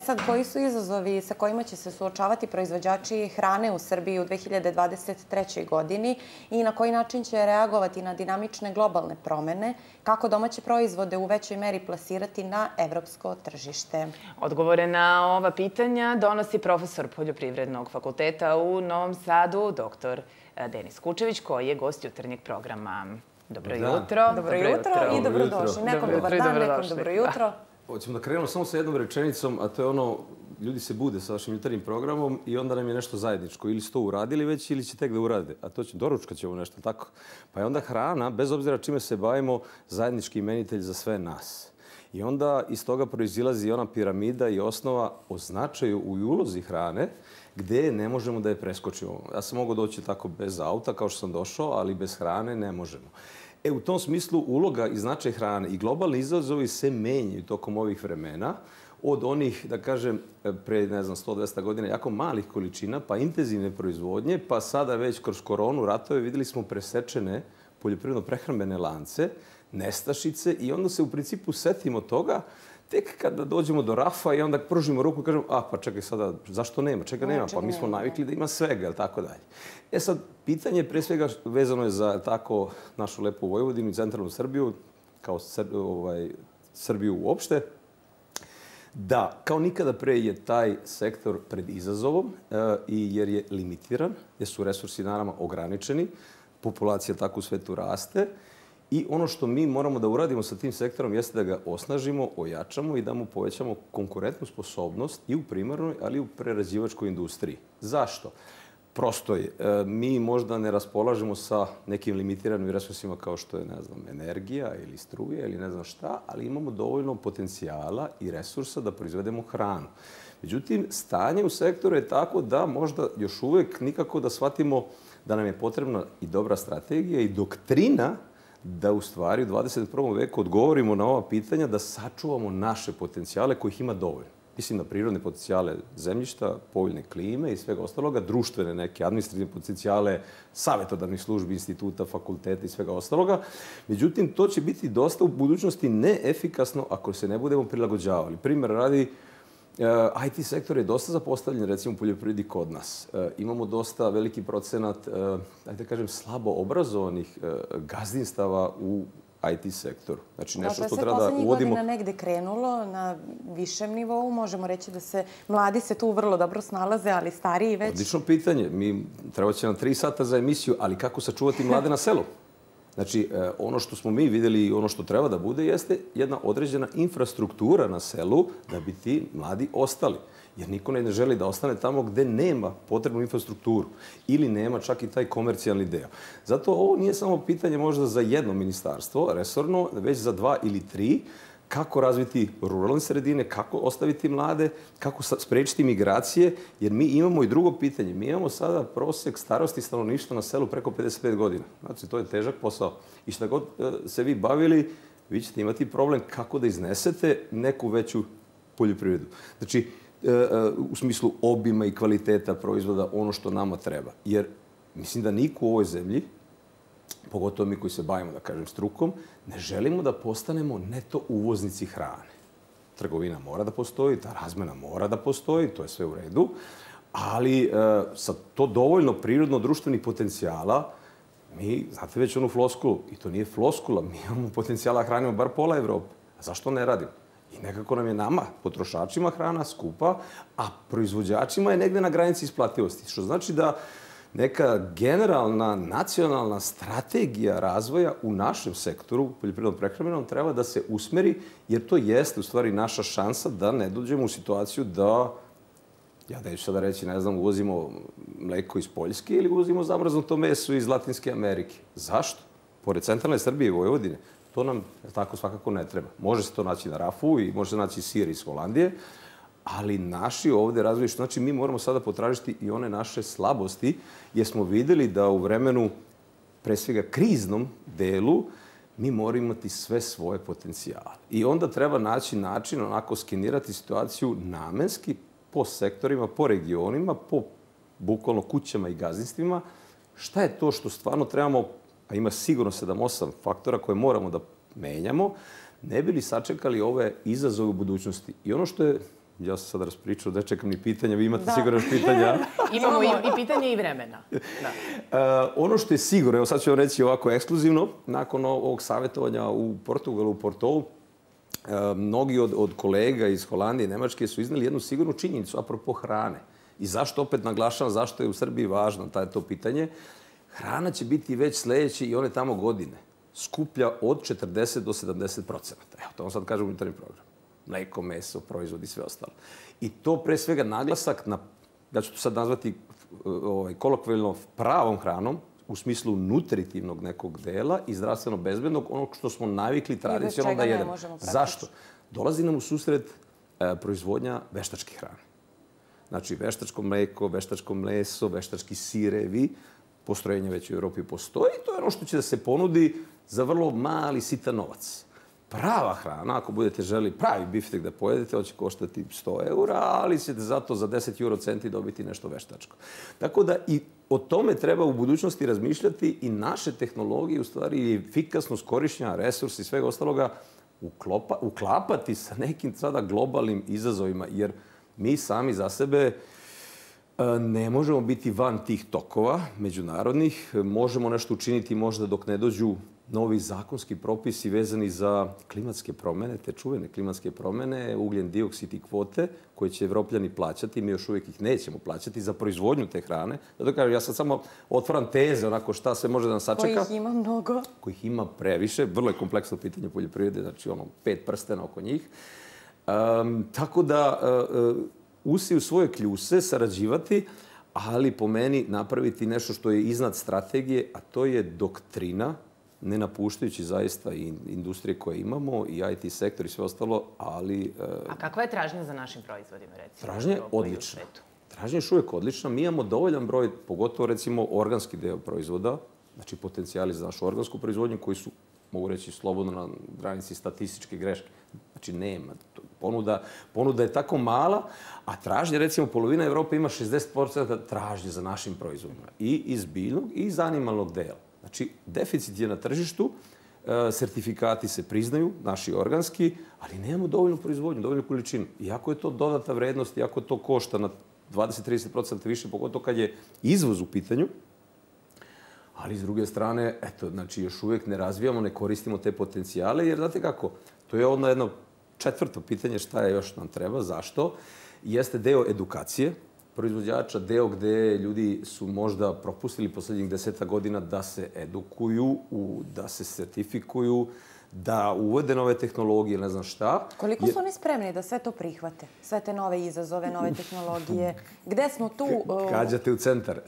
Sad, koji su izazovi sa kojima će se suočavati proizvođači hrane u Srbiji u 2023. godini i na koji način će reagovati na dinamične globalne promene, kako domaće proizvode u većoj meri plasirati na evropsko tržište? Odgovore na ova pitanja donosi profesor Poljoprivrednog fakulteta u Novom Sadu, dr. Denis Kučević, koji je gost jutarnjeg programa. Dobro jutro. Dobro jutro i dobrodošli. Nekom dobar dan, nekom dobro jutro. Hoćemo da krenemo samo sa jednom rečenicom, a to je ono, ljudi se bude sa vašim jutarnjim programom i onda nam je nešto zajedničko. Ili su to uradili već ili će tek da urade. A to će, doručkat ćemo nešto tako. Pa je onda hrana, bez obzira čime se bavimo, zajednički imenitelj za sve nas. I onda iz toga proizilazi ona piramida i osnova o značaju u ulozi hrane, gde ne možemo da je preskočimo. Ja sam mogao doći tako bez auta, kao što sam došao, ali bez hrane ne možemo. U tom smislu uloga i značaj hrane i globalni izazovi se menjaju tokom ovih vremena od onih, da kažem, pre, 100-200 godina jako malih količina, pa intenzivne proizvodnje, pa sada već kroz koronu, ratove, videli smo presečene poljoprivredno-prehrambene lance, nestašice i onda se u principu setimo toga tek kada dođemo do rafa i onda pružimo ruku i kažemo, pa čekaj sada, zašto nema? Čega nema? Pa mi smo navikli da ima svega, ili tako dalje. Sad, pitanje pre svega vezano je za tako našu lepu Vojvodinu i centralnu Srbiju, kao Srbiju uopšte, da kao nikada pre je taj sektor pred izazovom jer je limitiran, jer su resursi naravno ograničeni, populacija tako u svetu raste. I ono što mi moramo da uradimo sa tim sektorom jeste da ga osnažimo, ojačamo i da mu povećamo konkurentnu sposobnost i u primarnoj, ali i u prerađivačkoj industriji. Zašto? Prosto je. Mi možda ne raspolažemo sa nekim limitiranim resursima kao što je, ne znam, energija ili struje ili ne znam šta, ali imamo dovoljno potencijala i resursa da proizvedemo hranu. Međutim, stanje u sektoru je tako da možda još uvek nikako da shvatimo da nam je potrebna i dobra strategija i doktrina da u stvari u 21. veku odgovorimo na ova pitanja, da sačuvamo naše potencijale kojih ima dovoljno. Mislim na prirodne potencijale zemljišta, povoljne klime i svega ostaloga, društvene neke administrativne potencijale, savjetodavnih službi, instituta, fakulteta i svega ostaloga. Međutim, to će biti dosta u budućnosti neefikasno ako se ne budemo prilagođavali. Primjer radi, IT sektor je dosta zapostavljen, recimo u poljoprivredi kod nas. Imamo dosta veliki procenat, da kažem, slabo obrazovanih gazdinstava u IT sektoru. Znači nešto što treba da uvodimo... To je sve poslednjih godina negde krenulo na višem nivou. Možemo reći da se mladi se tu vrlo dobro snalaze, ali stariji već... Odlično pitanje. Treba će nam 3 sata za emisiju, ali kako sačuvati mlade na selu? Znači, ono što smo mi videli i ono što treba da bude jeste jedna određena infrastruktura na selu da bi ti mladi ostali. Jer niko ne želi da ostane tamo gde nema potrebnu infrastrukturu ili nema čak i taj komercijalni deo. Zato ovo nije samo pitanje možda za jedno ministarstvo, resorno, već za 2 ili 3, kako razviti ruralne sredine, kako ostaviti mlade, kako sprečiti migracije, jer mi imamo i drugo pitanje. Mi imamo sada prosek starosti stanovništva na selu preko 55 godina. Znači, to je težak posao. I šta god se vi bavili, vi ćete imati problem kako da iznesete neku veću poljoprivredu. Znači, u smislu obima i kvaliteta proizvoda, ono što nama treba. Jer mislim da niko u ovoj zemlji, pogotovo mi koji se bavimo, da kažem, strukom, ne želimo da postanemo neto uvoznici hrane. Trgovina mora da postoji, ta razmena mora da postoji, to je sve u redu, ali sa to dovoljno prirodno-društvenih potencijala, mi, znate već onu floskulu, i to nije floskula, mi imamo potencijala hranimo bar pola Evrope. A zašto ne radimo? I nekako nam je nama, potrošačima, hrana skupa, a proizvođačima je negde na granici isplativosti. Što znači da neka generalna nacionalna strategija razvoja u našem sektoru, poljoprivredno-prehrambenom, treba da se usmeri, jer to jeste u stvari naša šansa da ne dođemo u situaciju da, ja neću sada reći, ne znam, uvozimo mleko iz Poljske ili uvozimo zamrznuto meso iz Latinske Amerike. Zašto? Pored centralne Srbije i Vojvodine, to nam tako svakako ne treba. Može se to naći na rafu i može se naći sir iz Holandije, ali naši ovde razvoju, što znači mi moramo sada potražiti i one naše slabosti, jer smo videli da u vremenu, pre svega kriznom delu, mi moramo imati sve svoje potencijale. I onda treba naći način, onako skenirati situaciju namenski, po sektorima, po regionima, po bukvalno kućama i gazdinstvima, šta je to što stvarno trebamo, a ima sigurno 7-8 faktora koje moramo da menjamo, ne bi li sačekali ove izazove u budućnosti. I ono što je Ja sam sad raspričao, da čekam ni pitanja, vi imate sigurno još pitanja. Imamo i pitanje i vremena. Ono što je sigurno, evo sad ću vam reći ovako ekskluzivno, nakon ovog savjetovanja u Portugalu, u Portou, mnogi od kolega iz Holandije i Nemačke su izneli jednu sigurnu činjenicu apropo hrane. I zašto opet naglašavam, zašto je u Srbiji važno to pitanje. Hrana će biti već sledeće i one tamo godine skuplja od 40 do 70%. Evo, to vam sad kažem u unutarnjem programu. Mleko, meso, proizvodi i sve ostalo. I to pre svega naglasak na, ja ću to sad nazvati kolokvijalno pravom hranom, u smislu nutritivnog nekog dela i zdravstveno bezbednog, onog što smo navikli tradicionalno da jedemo. Zašto? Dolazi nam u susret proizvodnja veštačke hrane. Znači, veštačko mleko, veštačko meso, veštački sirevi, postrojenja već u Evropi postoji. To je ono što će da se ponudi za vrlo mali, sitan novac. Prava hrana, ako budete želi pravi biftek da pojedete, on će koštati 100 eura, ali ćete zato za 10 eurocenti dobiti nešto veštačko. Tako da i o tome treba u budućnosti razmišljati i naše tehnologije, u stvari efikasnost korišćenja resursa i svega ostaloga uklapati sa nekim sada globalnim izazovima, jer mi sami za sebe ne možemo biti van tih tokova međunarodnih. Možemo nešto učiniti možda dok ne dođu novi zakonski propisi vezani za klimatske promene, te čuvene klimatske promene, ugljen dioksid i kvote, koje će Evropljani plaćati. Mi još uvijek ih nećemo plaćati za proizvodnju te hrane. Zato kažem, ja sad samo otvaram teze, onako šta sve može da nas sačeka. Kojih ima mnogo. Kojih ima previše. Vrlo je kompleksno pitanje poljoprivrede, znači 5 prstena oko njih. Tako da usi u svoje kljuse, sarađivati, ali po meni napraviti nešto što je iznad strategije, a to je doktrina, ne napuštajući zaista i industrije koje imamo, i IT sektor i sve ostalo, ali... A kakva je tražnja za našim proizvodima, recimo? Tražnja je odlična. Tražnja je još uvijek odlična. Mi imamo dovoljan broj, pogotovo recimo organski deo proizvoda, znači potencijali za našu organsku proizvodnju, koji su, mogu reći, slobodno na granici statističke greške. Znači, nema. Ponuda je tako mala, a tražnja, recimo, polovina Evrope ima 60% tražnje za našim proizvodima. I iz biljnog i iz animalnog dela. Znači, deficit je na tržištu, sertifikati se priznaju, naši organski, ali nemamo dovoljnu proizvodnju, dovoljnu količinu. Iako je to dodata vrednost, iako to košta na 20-30% više, pogotovo kad je izvoz u pitanju, ali s druge strane, eto, znači, još uvijek ne razvijamo, ne koristimo te potencijale, jer znate kako, to je ono jedno četvrto pitanje šta je još nam treba, zašto, jeste deo edukacije proizvođača, deo gde ljudi su možda propustili poslednjih 10 godina da se edukuju, da se sertifikuju, da uvode nove tehnologije, ne znam šta. Koliko su oni spremni da sve to prihvate? Sve te nove izazove, nove tehnologije? Gde smo tu? Kađate u centar.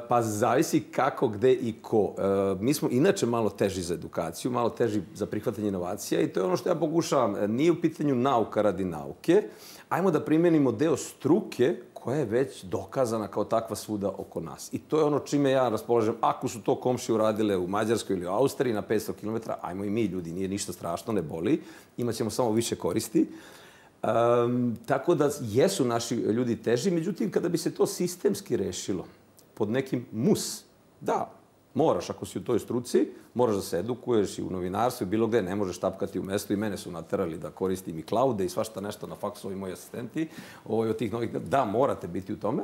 Pa zavisi kako, gde i ko. Mi smo inače malo teži za edukaciju, malo teži za prihvatanje inovacija i to je ono što ja pokušavam. Nije u pitanju nauka radi nauke. Ajmo da primenimo deo struke koja je već dokazana kao takva svuda oko nas. I to je ono čime ja raspolažem. Ako su to komšije uradile u Mađarskoj ili u Austriji na 500 km, ajmo i mi, ljudi, nije ništa strašno, ne boli. Imaćemo samo više koristi. Tako da jesu naši ljudi teži, međutim, kada bi se to sistemski rešilo pod nekim da, moraš, ako si u toj struci, moraš da se edukuješ i u novinarstvu i bilo gde, ne možeš tapkati u mestu i mene su naterali da koristim i cloude i svašta nešto na faksu, ovi moji asistenti, od tih novih, da, morate biti u tome.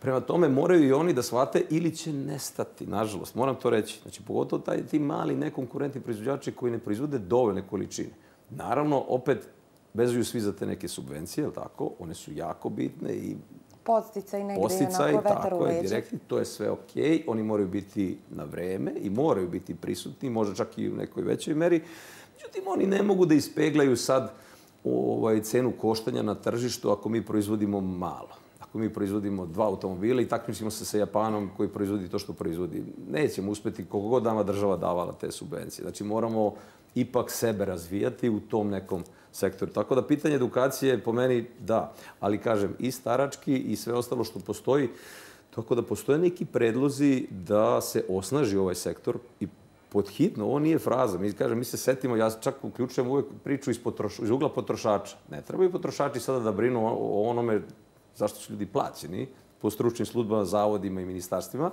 Prema tome, moraju i oni da shvate ili će nestati, nažalost, moram to reći. Znači, pogotovo ti mali nekonkurentni proizvođači koji ne proizvode dovoljne količine. Naravno, opet, vezuju svi za te neke subvencije, je li tako? One su jako bitne i podsticaj negdje, onako vetar u leđe. Direktni, to je sve okej. Oni moraju biti na vreme i moraju biti prisutni, možda čak i u nekoj većoj meri. Međutim, oni ne mogu da ispeglaju sad cenu koštanja na tržištu ako mi proizvodimo malo. Ako mi proizvodimo 2 automobila i takmičimo se sa Japanom koji proizvodi to što proizvodi. Nećemo uspeti koliko god nama država davala te subvencije. Znači, moramo ipak sebe razvijati u tom nekom sektoru. Tako da pitanje edukacije po meni da, ali kažem i starački i sve ostalo što postoji, tako da postoje neki predlozi da se osnaži ovaj sektor i podhitno, ovo nije fraza. Mi se setimo, ja čak uključujem uvek priču iz ugla potrošača. Ne trebaju potrošači sada da brinu o onome zašto su ljudi plaćeni po stručnim službama, zavodima i ministarstvima,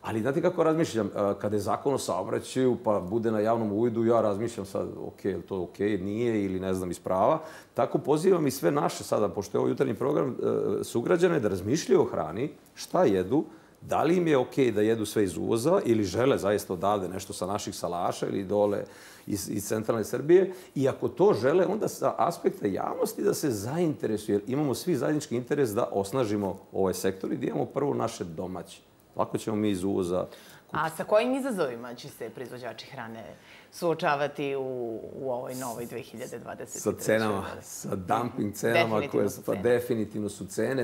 Ali znate kako razmišljam? Kada je zakon o saobraćaju, pa bude na javnom uvidu, ja razmišljam sad, ok, je li to ok, nije ili ne znam iz prava. Tako pozivam i sve naše sada, pošto je ovo jutarnji program, sugrađane da razmišljaju o hrani, šta jedu, da li im je ok da jedu sve iz uvoza ili žele zaista odavde nešto sa naših salaša ili dole iz centralne Srbije. I ako to žele, onda sa aspekta javnosti da se zainteresuju, jer imamo svi zajednički interes da osnažimo ovaj sektor i da imamo prvo naše domaće. Lako ćemo mi iz uvoza. A sa kojim izazovima će se proizvođači hrane suočavati u ovoj novoj 2023. Sa cenama, sa dumping cenama koje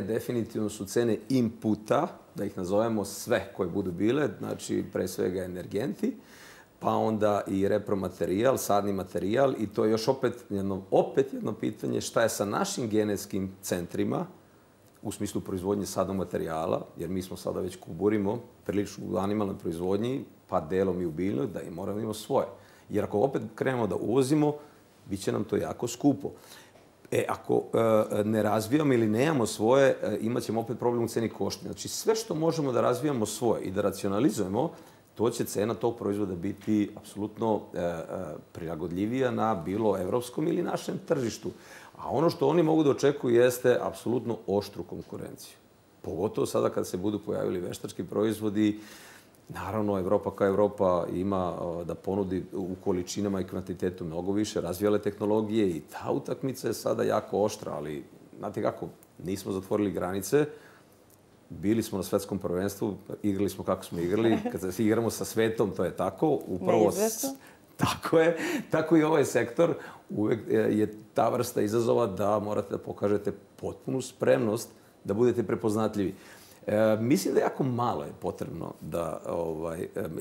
definitivno su cene inputa, da ih nazovemo sve koje budu bile, znači pre svega energenti, pa onda i repromaterijal, sadni materijal i to je još opet jedno pitanje šta je sa našim genetskim centrima, u smislu proizvodnje sadnog materijala, jer mi smo sada već kuburimo prilično u animalnoj proizvodnji, pa delom i u biljnoj, da i moramo imamo svoje. Jer ako opet krenemo da uvozimo, bit će nam to jako skupo. Ako ne razvijamo ili nemamo svoje, imat ćemo opet problem u ceni koštanja. Znači sve što možemo da razvijamo svoje i da racionalizujemo, to će cena tog proizvoda biti apsolutno prilagodljivija na bilo evropskom ili našem tržištu. A ono što oni mogu da očekuju jeste apsolutno oštru konkurenciju. Pogotovo sada kad se budu pojavili veštački proizvodi, naravno, Evropa kao Evropa ima da ponudi u količinama i kvantitetu mnogo više razvijale tehnologije i ta utakmica je sada jako oštra, ali znate kako, nismo zatvorili granice, bili smo na svetskom prvenstvu, igrali smo kako smo igrali, kad se igramo sa svetom, to je tako. Neizvesno. Tako je, tako i ovaj sektor. Uvek je ta vrsta izazova da morate da pokažete potpunu spremnost da budete prepoznatljivi. Mislim da jako malo je potrebno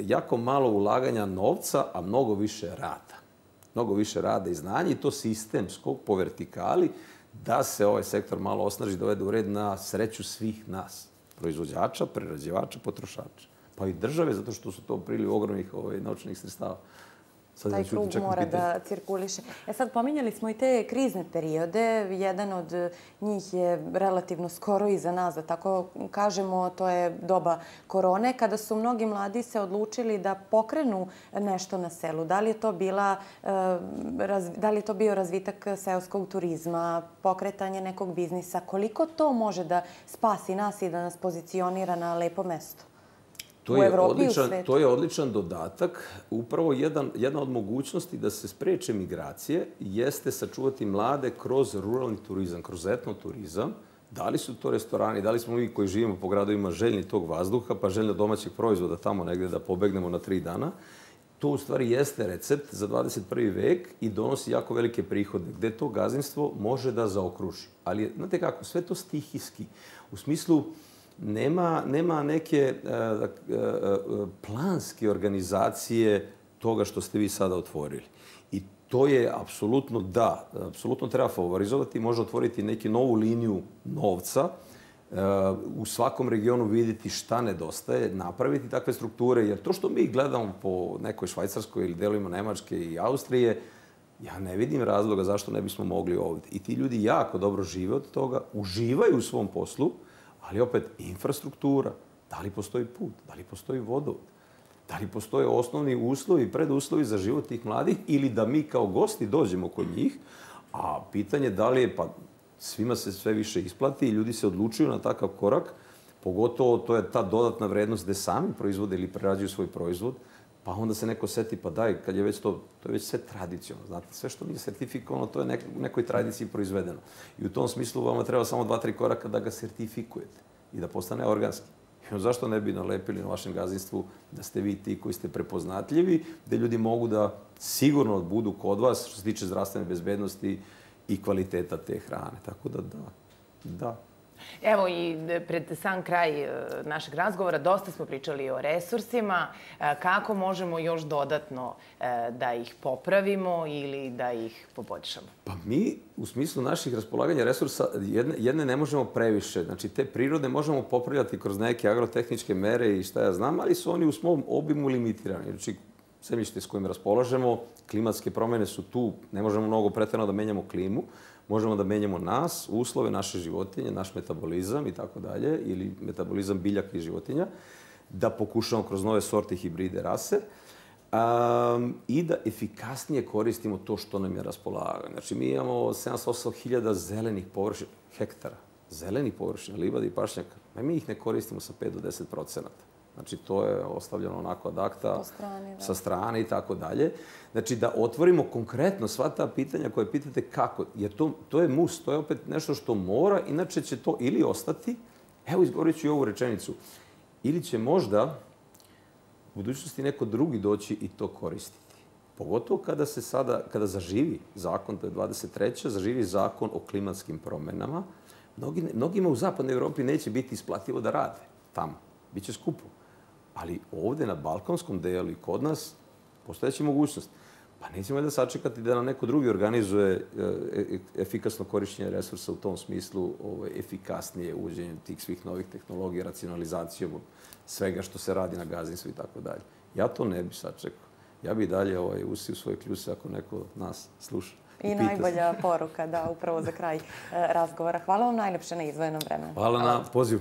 jako malo ulaganja novca, a mnogo više rada. Mnogo više rada i znanja i to sistemskog po vertikali da se ovaj sektor malo osnaži, dovede u red na sreću svih nas. Proizvođača, prerađivača, potrošača. Pa i države, zato što su to priliv ogromnih novčanih sredstava. Taj krug mora da cirkuliše. Sad, pominjali smo i te krizne periode. Jedan od njih je relativno skoro iza nas, da tako kažemo. To je doba korone, kada su mnogi mladi se odlučili da pokrenu nešto na selu. Da li je to bio razvitak seoskog turizma, pokretanje nekog biznisa? Koliko to može da spasi nas i da nas pozicionira na lepo mesto? To je odličan dodatak. Upravo jedna od mogućnosti da se spreče migracije jeste sačuvati mlade kroz ruralni turizam, kroz etnoturizam. Da li su to restorani, da li smo mi koji živimo po gradovima željni tog vazduha, pa željni domaćeg proizvoda tamo negde da pobegnemo na 3 dana. To u stvari jeste recept za 21. vek i donosi jako velike prihode, gde to gazdinstvo može da zaokruži. Ali, znate kako, sve to stihijski. U smislu, nema neke planske organizacije toga što ste vi sada otvorili. I to je apsolutno apsolutno treba favorizovati, može otvoriti neki novu liniju novca, u svakom regionu vidjeti šta nedostaje, napraviti takve strukture, jer to što mi gledamo po nekoj Švajcarskoj ili delovima Nemačke i Austrije, ja ne vidim razloga zašto ne bismo mogli ovdje. I ti ljudi jako dobro žive od toga, uživaju u svom poslu, ali opet infrastruktura, da li postoji put, da li postoji vodovod, da li postoje osnovni uslovi, preduslovi za život tih mladih ili da mi kao gosti dođemo kod njih, a pitanje da li je, pa svima se sve više isplati i ljudi se odlučuju na takav korak, pogotovo to je ta dodatna vrednost gde sami proizvode ili prerađuju svoj proizvod, pa onda se neko seti, pa daj, kad je već to je već sve tradicionalno, znate, sve što nije sertifikovano, to je u nekoj tradiciji proizvedeno. I u tom smislu vama treba samo 2-3 koraka da ga sertifikujete i da postane organski. I zašto ne bi nalepili na vašem gazdinstvu da ste vi ti koji ste prepoznatljivi, gde ljudi mogu da sigurno budu kod vas što se tiče zdravstvene bezbednosti i kvaliteta te hrane. Tako da. Evo i pred sam kraj našeg razgovora dosta smo pričali o resursima. Kako možemo još dodatno da ih popravimo ili da ih poboljšamo? Pa mi u smislu naših raspolaganja resursa jedne ne možemo previše. Znači te prirode možemo popravljati kroz neke agrotehničke mere i šta ja znam, ali su oni u svom obimu limitirani. Znači zemljište s kojim raspolažemo, klimatske promjene su tu, ne možemo mnogo preterano da menjamo klimu, možemo da menjamo nas, uslove naše životinje, naš metabolizam i tako dalje, ili metabolizam biljaka i životinja. da pokušamo kroz nove sorte i hibride rase i da efikasnije koristimo to što nam je raspolaganje. Znači, mi imamo 708.000 zelenih površina, hektara, zelenih površina, livada i pašnjaka. Mi ih ne koristimo sa 5 do 10%. Znači, to je ostavljeno onako ad acta, sa strane i tako dalje. Znači, da otvorimo konkretno sva ta pitanja koje pitate kako. Jer to je mus, to je opet nešto što mora, inače će to ili ostati, evo izgovorit ću i ovu rečenicu, ili će možda u budućnosti neko drugi doći i to koristiti. Pogotovo kada zaživi zakon, to je 23. zaživi zakon o klimatskim promjenama, mnogima u zapadnoj Evropi neće biti isplativo da rade tamo. Biće skupo. Ali ovdje na balkanskom delu i kod nas postojeće mogućnost. Pa nećemo da sačekati da nam neko drugi organizuje efikasno korišćenje resursa u tom smislu, efikasnije uvođenje tih svih novih tehnologija, racionalizacijom svega što se radi na gazdinstvu i tako dalje. Ja to ne bi sačekao. Ja bi dalje usio svoje kljuse ako neko nas sluša. I najbolja poruka, da, upravo za kraj razgovora. Hvala vam najlepše na izdvojenom vremenu. Hvala na pozivu.